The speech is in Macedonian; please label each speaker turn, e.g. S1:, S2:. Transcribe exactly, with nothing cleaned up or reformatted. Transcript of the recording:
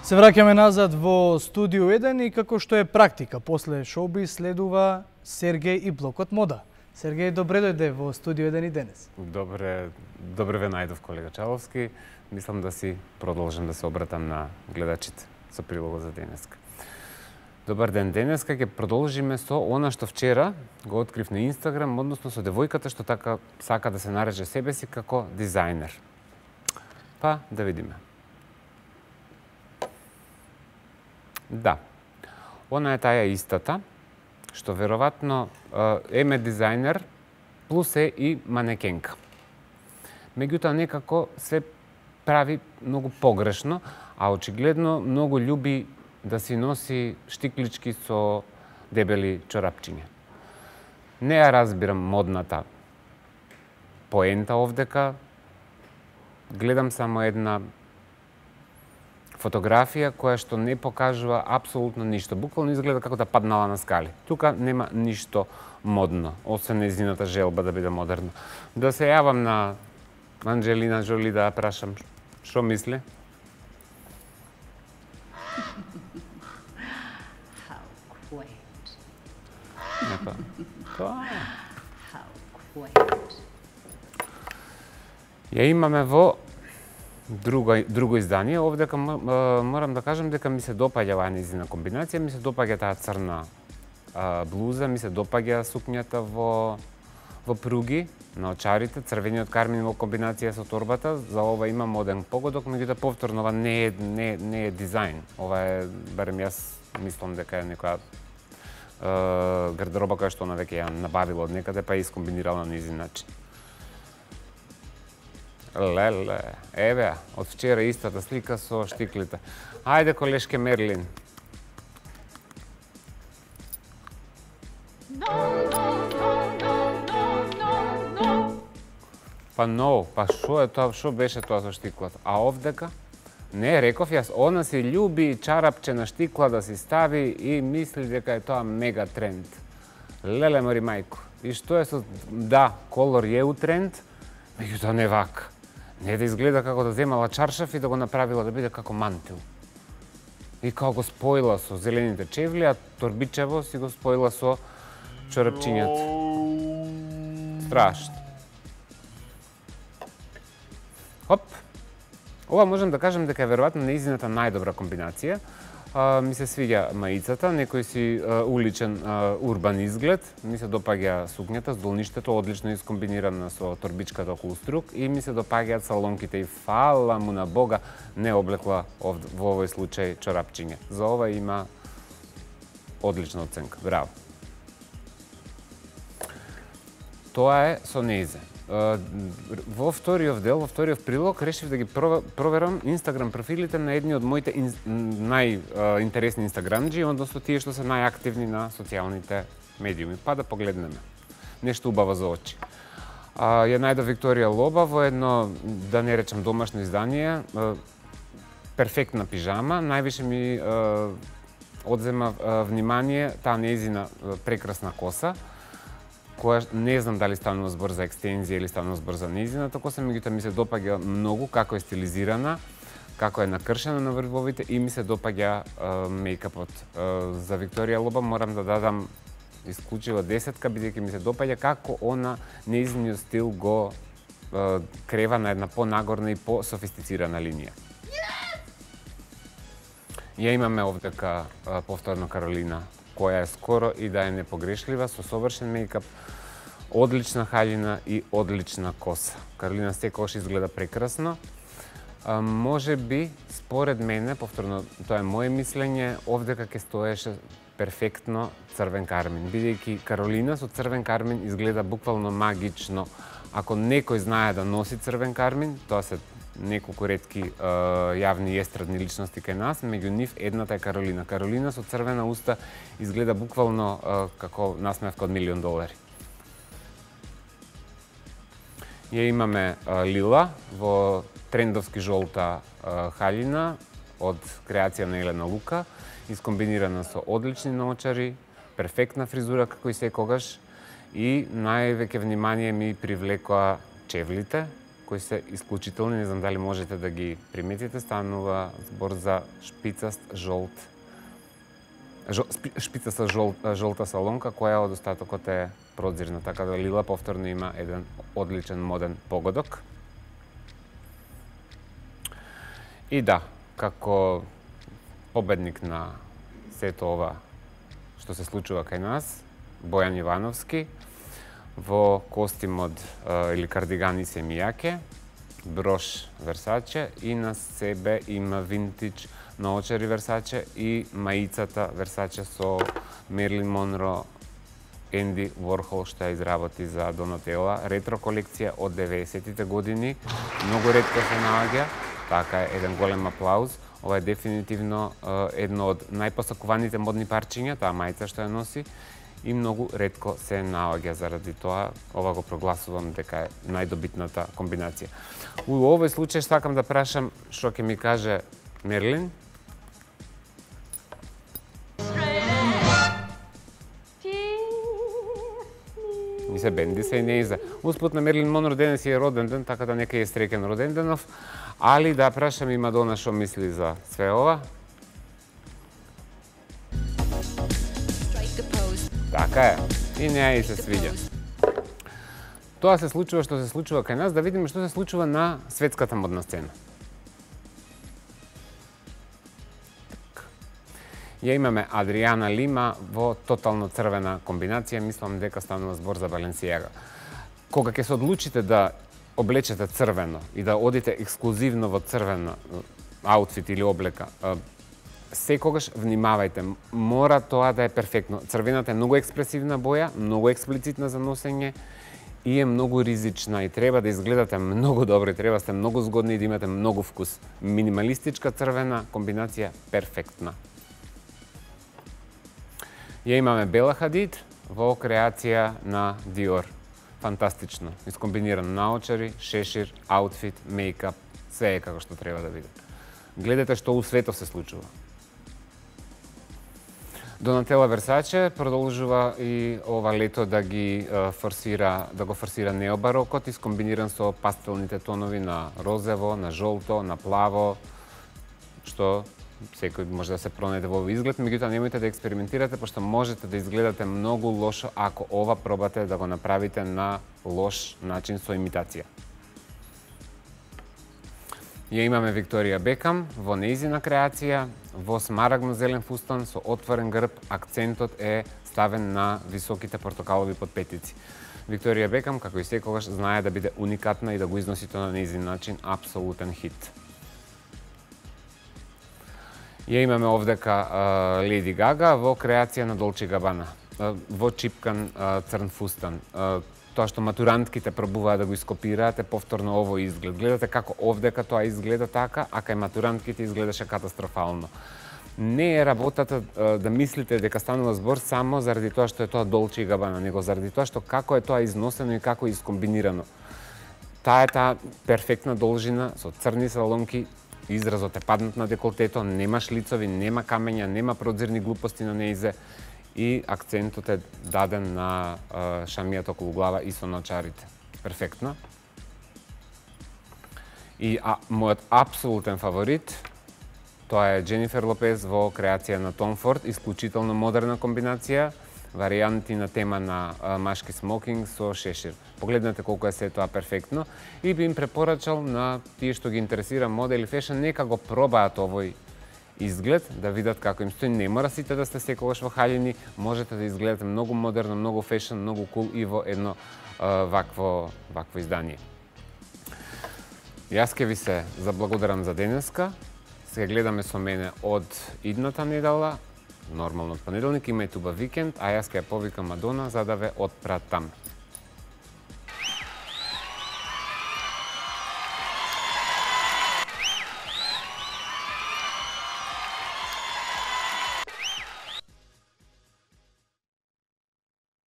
S1: Се враќаме назад во студио еден и како што е практика, после шоуби следува Сергеј и блокот мода. Сергеј, добре дојде во студио еден и денес.
S2: Добре, добре ве најдов, колега Чаловски. Мислам да си продолжам да се обратам на гледачите со прилогот за денеска. Добар ден, денеска ќе продолжиме со она што вчера го открив на Инстаграм, односно со девојката што така сака да се нареже себе си како дизајнер. Па, да видиме. Да, она е таја истата, што веројатно еме дизајнер, плюс е и манекенка. Меѓутоа некако се прави многу погрешно, а очигледно многу љуби да си носи штиклички со дебели чорапчиња. Не ја разбирам модната поента овдека, гледам само една фотографија која што не покажува апсолутно ништо. Буквално изгледа како да паднала на скали. Тука нема ништо модно, освен нејзината желба да биде модерно. Да се јавам на Анџелина Джоли да ја прашам што мисли?
S3: How quaint.
S2: Епа, тоа е.
S3: How quaint.
S2: Ја имаме во друго, друго издание. Овдека морам да кажам дека ми се допаѓа оваа нејзина комбинација, ми се допаѓа таа црна а, блуза, ми се допаѓа сукњата во во пруги на очарите, црвениот кармин во комбинација со торбата. За ова има моден погодок, меѓутоа повторно ова не е не не е дизајн. Ова е, барем јас мислам дека е некоја е, гардероба која што она веќе ја набавила од некаде па ја искомбинирала на нејзин начин. Леле, еве, од вчера истата слика со штиклите. Ајде, колешке Мерлин.
S3: No, no, no, no, no, no, no.
S2: Па но, па шо е тоа, шо беше тоа со штиклата? А овдека? Не, реков јас, она си љуби чарапче на штикла да си стави и мисли дека е тоа мега тренд. Леле мори мајко. И што е со... Да, колор е у тренд, меѓутоа не вака. Не да изгледа како да земала чаршаф и да го направила да биде како мантил. И како го споила со зелените чевли, а торбичево си го споила со чорапчињата. Страшно. Хоп. Ова можам да кажам дека е веројатно нејзината најдобра комбинација. А, ми се свиѓа маицата, некој си а, уличен а, урбан изглед. Ми се допаѓа сукњата с долништето, одлично искомбинирана со торбичката околу струк и ми се допаѓаат салонките и фала му на Бога не облекла ов, во овој случај чорапчиња. За ова има одлична оценка. Браво. Тоа е со нејзе. Во вториот дел, во вториот прилог, решив да ги проверам Инстаграм профилите на едни од моите ин... најинтересни инстаграмџи, односно тие што се најактивни на социјалните медиуми. Па да погледнеме. Нешто убаво за очи. А, ја најдов Викторија Лоба во едно, да не речам домашно издание, перфектна пижама. Највише ми а, одзема а, внимание таа нејзина прекрасна коса, која не знам дали станува збор за екстензија или станува збор за нејзината коса, меѓутоа ми се допаѓа многу како е стилизирана, како е накршена на врвовите и ми се допаѓа мејкапот. За Викторија Лоба морам да дадам исклучиво десетка, бидејќи ми се допаѓа како она нејзиниот стил го е, крева на една понагорна и пософистицирана линија. Ја имаме овдека повторно Каролина, која е скоро и да е непогрешлива, со совршен мејкап, одлична хаљина и одлична коса. Каролина секогаш изгледа прекрасно. А, може би, според мене, повторно, тоа е моје мислење, овдека ќе стоеше перфектно црвен кармин, бидејќи Каролина со црвен кармин изгледа буквално магично. Ако некој знае да носи црвен кармин, тоа се неколку ретки е, јавни и естрадни личности кај нас, меѓу нив едната е Каролина. Каролина со црвена уста изгледа буквално е, како насмевка од милион долари. Ја имаме е, Лила во трендовски жолта е, хаљина од креација на Елена Лука, искомбинирана со одлични наочари, перфектна фризура како и секогаш и највеќе внимание ми привлекоа чевлите, кои се исклучителни, не знам дали можете да ги приметите, станува збор за шпицаст жолт Жол, шпицаста жол, жолта салонка, која од остатокот е продзирна, така да Лила повторно има еден одличен моден погодок. И да, како победник на сето ова што се случува кај нас, Бојан Ивановски, во костимот или кардигани семијаке, брош Версаче и на себе има винтидж наочари Версаче и маицата Версаче со Мерлин Монро, Енди Ворхол што ја изработи за Донателла, ретро колекција од деветдесетите години, многу ретко се наоѓа, така е еден голем аплауз. Ова е дефинитивно едно од најпосакуваните модни парчиња, таа мајца што ја носи, и многу ретко се наоѓа, заради тоа ова го прогласувам дека е најдобитната комбинација. У овој случај сакам да прашам што ќе ми каже Мерлин. Ни се бенди се и не иза. Успут на Мерлин Монро денес е роден ден, така да нека е среќен роден денов. Али да прашам и Мадона што мисли за све ова. Така е. И неа и се свиѓа. Тоа се случува што се случува кај нас, да видиме што се случува на светската модна сцена. Ја имаме Адриана Лима во тотално црвена комбинација, мислам дека станува збор за Баленсијага. Кога ќе се одлучите да облечете црвено и да одите ексклузивно во црвена аутфит или облека, секогаш внимавајте, мора тоа да е перфектно. Црвената е многу експресивна боја, многу експлицитна за носење и е многу ризична и треба да изгледате многу добро, и треба да сте многу згодни и да имате многу вкус. Минималистичка црвена комбинација перфектна. Ја имаме Бела Хадид во креација на Диор. Фантастично. Искомбиниран наочари, шешир, аутфит, мејкап, све е како што треба да биде. Гледате што у светот се случува. Донателла Версаче продолжува и ова лето да ги форсира, да го форсира необарокот, искомбиниран со пастелните тонови на розево, на жолто, на плаво, што секој може да се пронајде во овој изглед, меѓутоа немојте да експериментирате, пошто можете да изгледате многу лошо ако ова пробате да го направите на лош начин со имитација. Ја имаме Викторија Бекам во нејзина креација, во смарагно-зелен фустан со отворен грб, акцентот е ставен на високите портокалови подпетици. Викторија Бекам, како и секогаш, знае да биде уникатна и да го износи тоа на нејзин начин, апсолутен хит. Ја имаме овдека Леди Гага во креација на Долче Габана, во чипкан црн фустан. Тоа што матурантките пробуваат да го ископираат е повторно овој изглед. Гледате како овдека тоа изгледа така, а кај матурантките изгледаше катастрофално. Не е работата да мислите дека станува збор само заради тоа што е тоа Долче и Габана, него заради тоа што како е тоа износено и како е искомбинирано. Таа е таа перфектна должина со црни салонки, изразот е паднат на деколтето, нема шлицови, нема камења, нема продзирни глупости на неизе и акцентот е даден на шамијата околу глава и со наочарите. Перфектно. И а, мојот апсолутен фаворит, тоа е Дженифер Лопез во креација на Том Форд, исклучително модерна комбинација, варијанти на тема на а, машки смокинг со шешир. Погледнете колку е се тоа перфектно и би им препорачал на тие што ги интересира мода или фешн, нека го пробаат овој изглед, да видат како им стои. Не мора сите да сте секогаш во халјини, можете да изгледате многу модерно, многу фешн, многу кул и во едно а, вакво, вакво издание. Јас ке ви се заблагодарам за денеска. Се гледаме со мене од идната недела, нормално од понеделник, имајте убав викенд, а јас ке ја повикам Мадона за да ве отпратам.